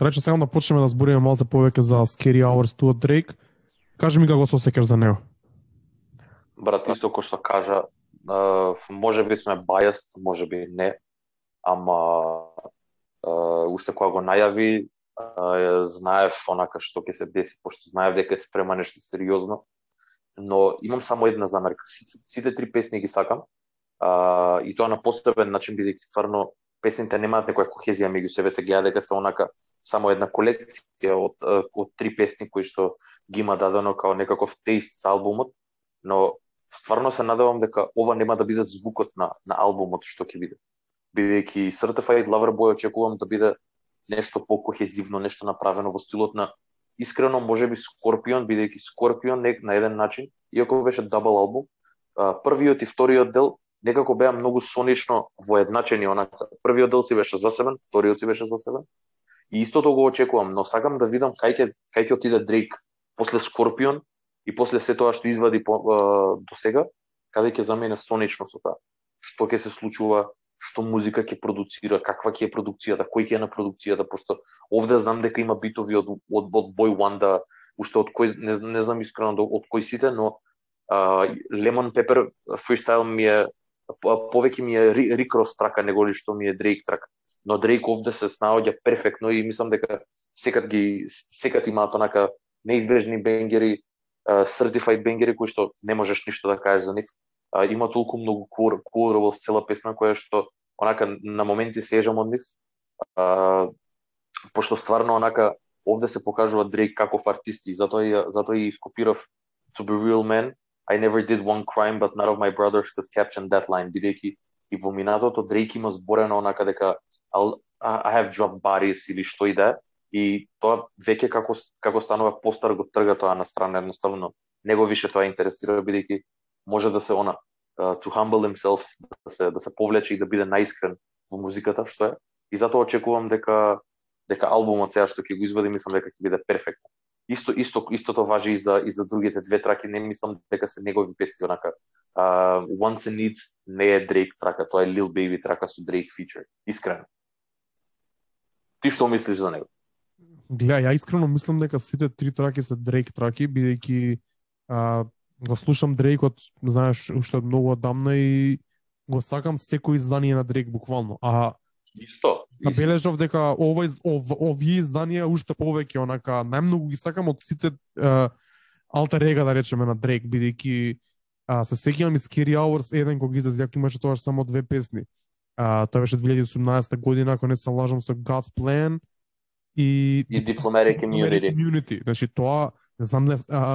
Рече сакам да почнеме да збориме малце повеќе за Scary Hours 2 од Drake. Кажи ми како се осеќаш за него. Брат, исто кој што кажа, може би сме biased, може би не, ама уште кога го најави, знаев онака што ќе се деси, пошто знаев дека е спрема нешто сериозно, но имам само една замерка. Сите три песни ги сакам, и тоа на посебен начин, бидејќи стварно песните немаат некоја кохезија меѓу себе, се гледа дека се онака само една колекција од три песни кои што ги има дадено као некаков теист за албумот, но стварно се надевам дека ова нема да биде звукот на албумот што ќе биде. Бидејќи Certified Lover Boy очекувам да биде нешто покохезивно, нешто направено во стилот на искрено можеби Scorpion, бидејќи Scorpion на еден начин, иако беше дабл албум, првиот и вториот дел некако беа многу сонично воедначени, онака. Првиот дел си беше засебен, вториот си беше засебен. И истото го очекувам, но сакам да видам кај ќе отиде Дрейк после Scorpion и после се тоа што извади до сега, каде ќе замене сонично со тоа. Што ќе се случува, што музика ќе продуцира, каква ќе е продукцијата, кој ќе е на продукцијата, пошто овде знам дека има битови од Boy Wanda, уште од кој не знам искрено од кој сите, но Lemon Pepper freestyle ми е повеќе ми е Rick Ross трака неголи што ми е Drake трака. Но Drake овде се снаоѓа перфектно и мислам дека секад имаат онака неизбежни бенгери, certified бенгери кои што не можеш ништо да кажеш за нив. Има толку многу cool цела песна која што онака на моменти се ежам од нив. Пошто стварно онака овде се покажува Drake каков артист и затоа и скопирав To Be Real Man. I never did one crime, but none of my brothers could caption that line, бидејќи и во минатото Drake има зборено онака дека I have dropped bodies или што и да, и тоа веќе како станува постар го трга тоа на страна, едноставно него више тоа интересира, бидејќи може да се to humble himself, да се повлече и да биде наискрен во музиката, што е. И затоа очекувам дека албумот сега што ќе го извади, мислам дека ќе биде перфектен. Истото важи и за другите две траки, не мислам дека се негови песни онака. Wants and Needs не е Drake трака, тоа е Lil Baby трака со Drake feature. Искрено. Ти што мислиш за него? Гледа, ја искрено мислам дека сите три траки се Drake траки, бидејќи го слушам Drake од, знаеш, уште многу одамна и го сакам секој издание на Drake буквално. Исто. Забележав дека овие изданија уште повеќе онака најмногу ги сакам од сите алтер ега, да речеме, на Drake, бидејќи се сеќавам и Scary Hours 1 кога излезе, јако имаше тоа само две песни. Тоа беше 2018 година, ако не се лажам, со God's Plan и Diplomatic Immunity. Значи тоа, не знам,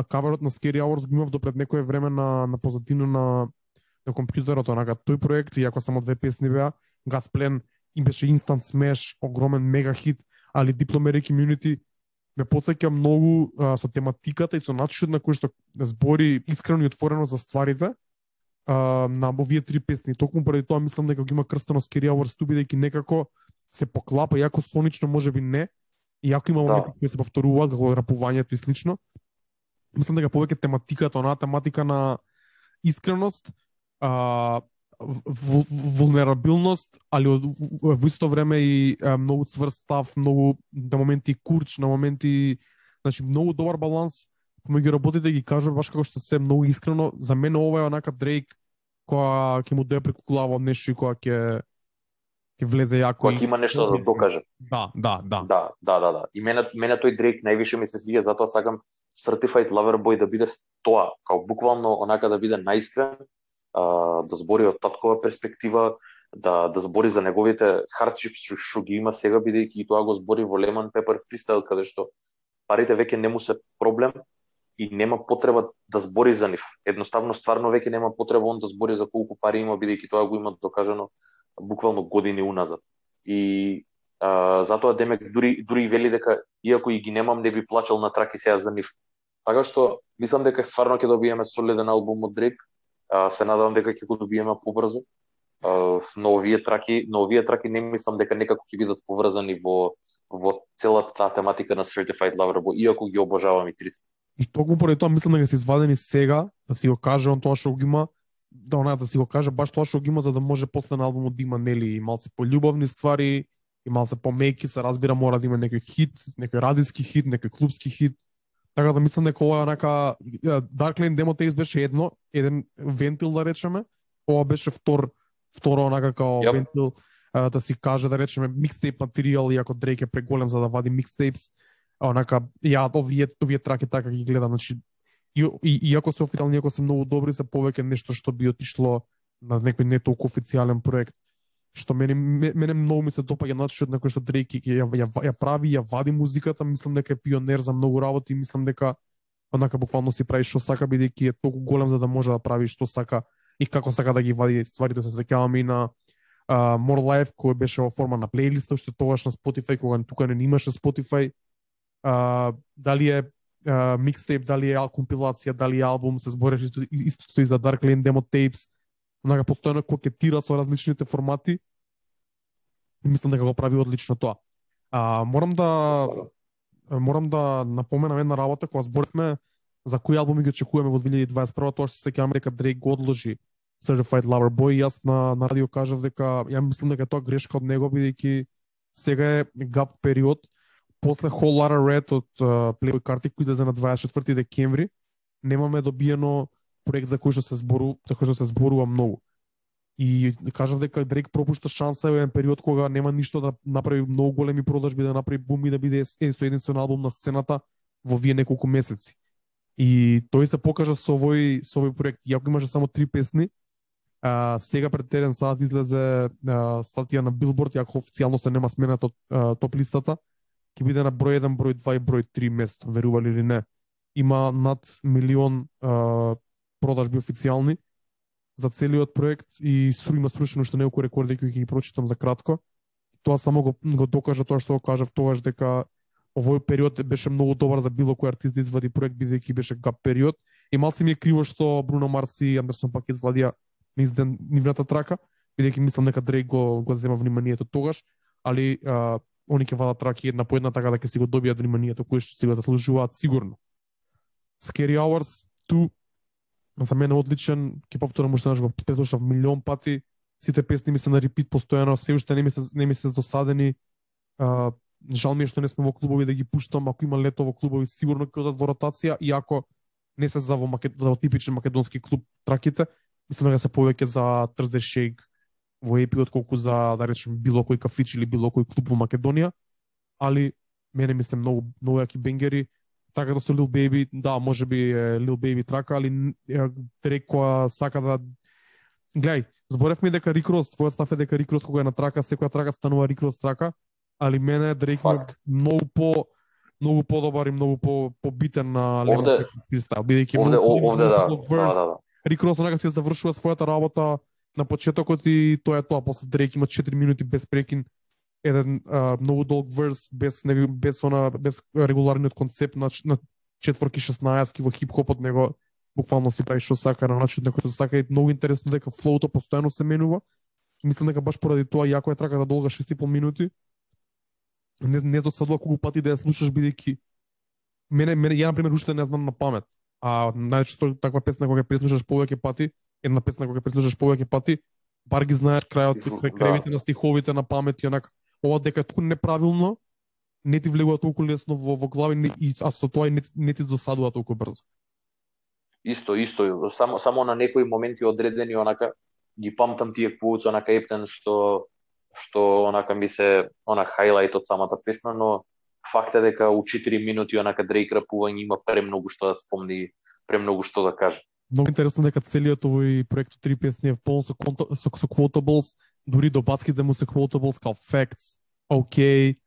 каверот на Scary Hours го имав допред некое време на позадина на компјутерот, онака тој проект, иако само две песни беа, God's Plan им беше instant smash, огромен мега хит, али Diplomatic Immunity ме потсеќа многу со тематиката и со начинот на кој што збори искрено и отворено за стварите на овие три песни. Токму поради тоа мислам дека го има крстено Scary Hours 2, бидејќи некако се поклапа, иако сонично можеби не, иако има моменти кои се повторуваат, како рапувањето и слично. Мислам дека повеќе тематиката, онаа тематика на искреност, вулнерабилност, али во исто време и многу цврст став, многу на моменти курч, на моменти, значи многу добар баланс помеѓу работите, ги кажува баш како што се многу искрено. За мене ова е онака Дрейк која ќе му дое преку глава нешто и која ќе влезе јако. Која ќе има нешто да докаже. Да. И мене тој Дрейк највише ми се свиѓа, затоа сакам Certified Lover Boy да биде тоа, као буквално онака да биде наискрен, да збори од таткова перспектива, да збори за неговите хардшипс што ги има сега, бидејќи и тоа го збори во Lemon Pepper freestyle, каде што парите веќе не му се проблем и нема потреба да збори за нив. Едноставно, стварно веќе нема потреба он да збори за колку пари има, бидејќи тоа го има докажано буквално години уназад. И затоа демек дури вели дека иако и ги немам, не би плачал на траки сега за нив. Така што мислам дека стварно ќе добиеме солиден албум од Дрейк. Се надевам дека ќе го добиеме побрзо. Но овие траки не мислам дека некако ќе бидат поврзани во целата таа тематика на Certified Lover Boy, иако ги обожавам и трите. И токму поради тоа мислам дека се извадени сега, да си го каже он тоа што го има, да си го каже баш тоа што го има, за да може после на албумот да има нели малце пољубовни ствари и малце помеки, се разбира мора да има некој хит, некој радиски хит, некој клубски хит. Така да мислам дека ова онака Dark Lane Demo Tapes беше еден вентил да речеме, ова беше второ онака као вентил да си каже да речеме микстейп материјал, иако Дрейк е преголем за да вади микстейпс, онака ја овие траки така ги гледам, значи иако се официјални, иако се многу добри, се повеќе нешто што би отишло на некој не толку официјален проект. Што мене многу ми се допаѓа начинот на кој што Дрейк ја прави, ја вади музиката, мислам дека е пионер за многу работи и мислам дека онака буквално си прави што сака, бидејќи е толку голем за да може да прави што сака и како сака да ги вади стварите. Се сеќавам и на More Life, кој беше во форма на плейлиста, уште тогаш на Spotify, кога тука не имаше Spotify. Дали е микстейп, дали е компилација, дали е албум, се збореше исто и за Dark Lane Demo Tapes. Онака постојано кокетира со различните формати и мислам дека го прави одлично тоа. Морам да напоменам една работа, кога зборевме за кои албуми ги очекуваме во 2021, тоа што се сеќаваме дека Дрейк го одложи Certified Lover Boy, и јас на радио кажав дека ја мислам дека тоа грешка од него, бидејќи сега е гап период после Whole Lotta Red од Playboi Carti, кој излезе на 24 декември, немаме добиено проект за кој што се зборува многу. И кажав дека Дрейк пропушта шанса во еден период кога нема ништо да направи многу големи продажби, да направи бум и да биде единствен албум на сцената во вие неколку месеци. И тој се покажа со овој проект. Иако имаше само 3 песни, сега пред еден саат излезе статија на Billboard, иако официјално се нема сменат од топ листата, ќе биде на број 1, број 2 и број 3 место, верували или не. Има над 1 милион продажби официјални за целиот проект и има срушено уште неколку рекорди кои ќе ги прочитам за кратко. Тоа само го докажа тоа што го кажав тогаш, дека овој период беше многу добар за било кој артист да извади проект, бидејќи беше гап период. И малце ми е криво што Бруно Марс и Андерсон пак извадија нивната трака, бидејќи мислам дека Дрейк го зема вниманието тогаш, али они ќе вадат траки една по една, така да ќе си го добијат вниманието кој што си го заслужуваат сигурно. Scary Hours 2 за мене одличен, ќе повторам уште еднаш, го преслушав милион пати, сите песни ми се на репит постојано, се уште не ми се досадени. Жал ми е што не сме во клубови да ги пуштам, ако има лето во клубови сигурно ќе одат во ротација, иако не се за во типичен македонски клуб траките, мислам дека се повеќе за Thursday Shake во епи отколку за, да речем, било кој кафич или било кој клуб во Македонија, али мене ми се многу јаки бенгери. Така да со Lil Baby, да, може би Lil Baby трака, али Дрейк која сака да... Гледај, зборевме дека Rick Ross, твојот став е дека Rick Ross кога е на трака, секоја трака станува Rick Ross трака, али мене Дрейк е многу подобар и многу побитен на левата фристайл, бидејќи овде да. Rick Ross онака си завршува својата работа на почетокот и тоа е тоа, после Дрейк има 4 минути без прекин, еден многу долг верс без регуларниот концепт на четворки 16 во хип-хопот, него буквално си прави што сака на начин на кој сака, и многу интересно дека флоуто постојано се менува. Мислам дека баш поради тоа, иако е траката долга 6,5 минути, не досадува колку пати да ја слушаш, бидејќи мене ја на пример уште не знам на памет. Најчесто таква песна кога ја преслушаш повеќе пати, една песна кога ја преслушаш повеќе пати, бар ги знаеш крајовите на стиховите на памет и онака. Ова дека е толку неправилно, не ти влегува толку лесно во глави, а со тоа не ти досадува толку брзо. Исто, само на некои моменти одредени онака ги памтам тие quotes, онака ептен што онака ми се хайлайт од самата песна, но факт е дека у 4 минути онака Дрейк рапува и има премногу што да спомни, премногу што да каже. Многу интересно дека целиот овој проект од 3 песни е полн со quotables, дури до баските му се quotables као facts, окей.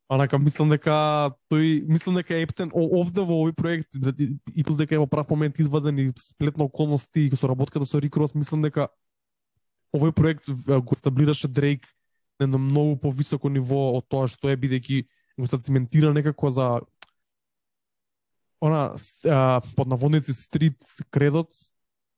Онака мислам дека ептен овде во овој проект и плюс дека е во прав момент изваден и сплет на околности и со работката со Rick Ross, мислам дека овој проект го стаблираше Дрейк на едно многу повисоко ниво од тоа што е, бидејќи го циментира некако за под наводници стрит кредот,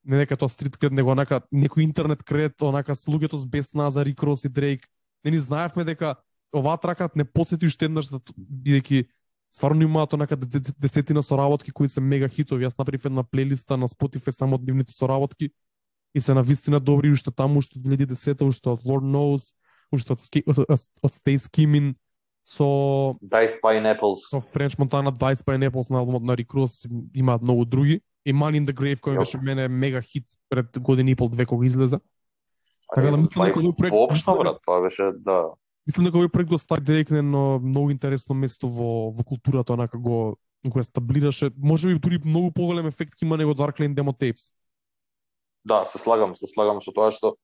не дека тоа стрит кред, него онака некој интернет кред, онака с луѓето с бесна за Rick Ross и Дрейк. Не ни знаевме дека оваа трака не потсети уште еднаш, бидејќи стварно имаат онака десетина соработки кои се мега хитови. Јас направив една плейлиста на Spotify само од нивните соработки и се навистина добри, уште таму, уште 2010, уште од Lord Knows, уште од Stay Skimming со Diced Pineapples. со French Montana, Diced Pineapples на албумот на Rick Ross, имаат многу други. И Money in the Grave кој беше мене мега хит пред година и пол, две кога излеза. Така да мислам дека овој проект воопшто брат, тоа беше да. Мислам дека овој проект го стави директно на многу интересно место во културата, онака го стаблираше. Можеби дури многу поголем ефект ќе има него Dark Lane Demo Tapes. Да, се слагам со тоа што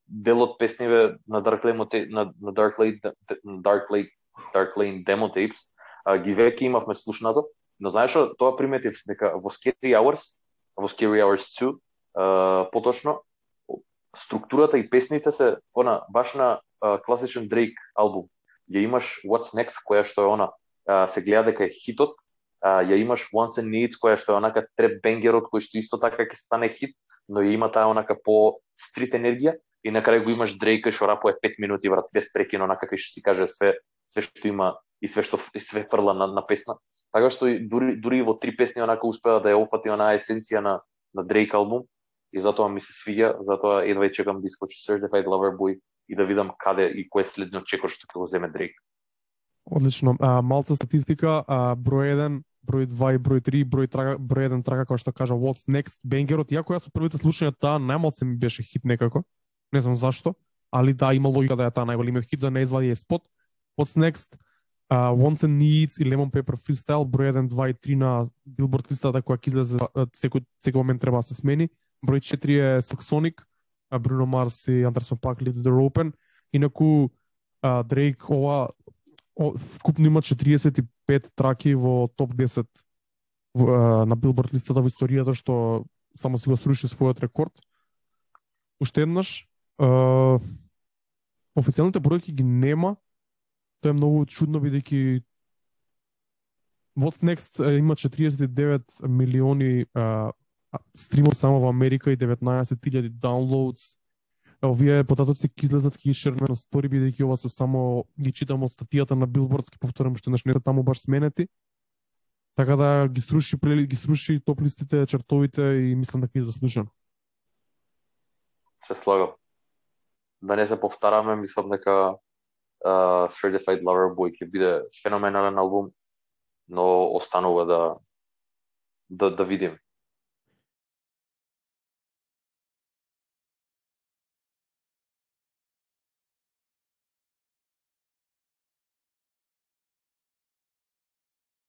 дел од песниве на Dark Lane Demo Tapes ги веќе имавме слушнато, но знаеш што, тоа приметив дека во Scary Hours 2, поточно структурата и песните се баш на класичен Drake албум. Ја имаш What's Next, која што е се гледа дека е хитот, ја имаш Wants and Needs, која што е онака треп бенгерот, кој што исто така ќе стане хит, но ја има таа онака по стрит енергија, и на крај го имаш Drake што рапува 5 минути брат без прекин, онака кај што си каже све што има и све фрла на песна. Така што дури во 3 песни онака успеа да ја опфати онаа есенција на Drake албум, и затоа ми се свиѓа, затоа едва чекам да искочи Certified Lover Boy и да видам каде и кој е следниот чекор што ќе го земе Drake. Одлично. Малца статистика, број 1, број 2 и број 3, број 1 трага кој што кажа What's Next, бенгерот, иако јас со првите слушања таа најмалце ми беше хит некако. Не знам зашто, али да, има логика да е таа најголемиот хит, да не извади е спот. What's Next, Wants and Needs и Lemon Pepper Freestyle, број 1, 2 и 3 на Billboard листата која ќе излезе секој момент треба да се смени. Број 4 е Saxonic, Bruno Mars и Anderson .Paak Leave the Door Open. Инаку Drake вкупно има 45 траки во топ 10 на Billboard листата во историјата, што само си го сруши својот рекорд. Уште еднаш, официјалните бројки ги нема. Тоа е многу чудно, бидејќи What's Next има 49 милиони стримов само во Америка и 19,000 downloads. Овие податоци ќе излезат, ќе шернем на стори, бидејќи ова се само ги читам од статијата на Billboard, ќе повторам што не се таму баш сменети. Така да ги сруши топ листите, чартовите и мислам дека е заслужено. Се слагам. Да не се повтараме, мислам дека Certified Lover Boy ќе биде феноменален албум, но останува да видим.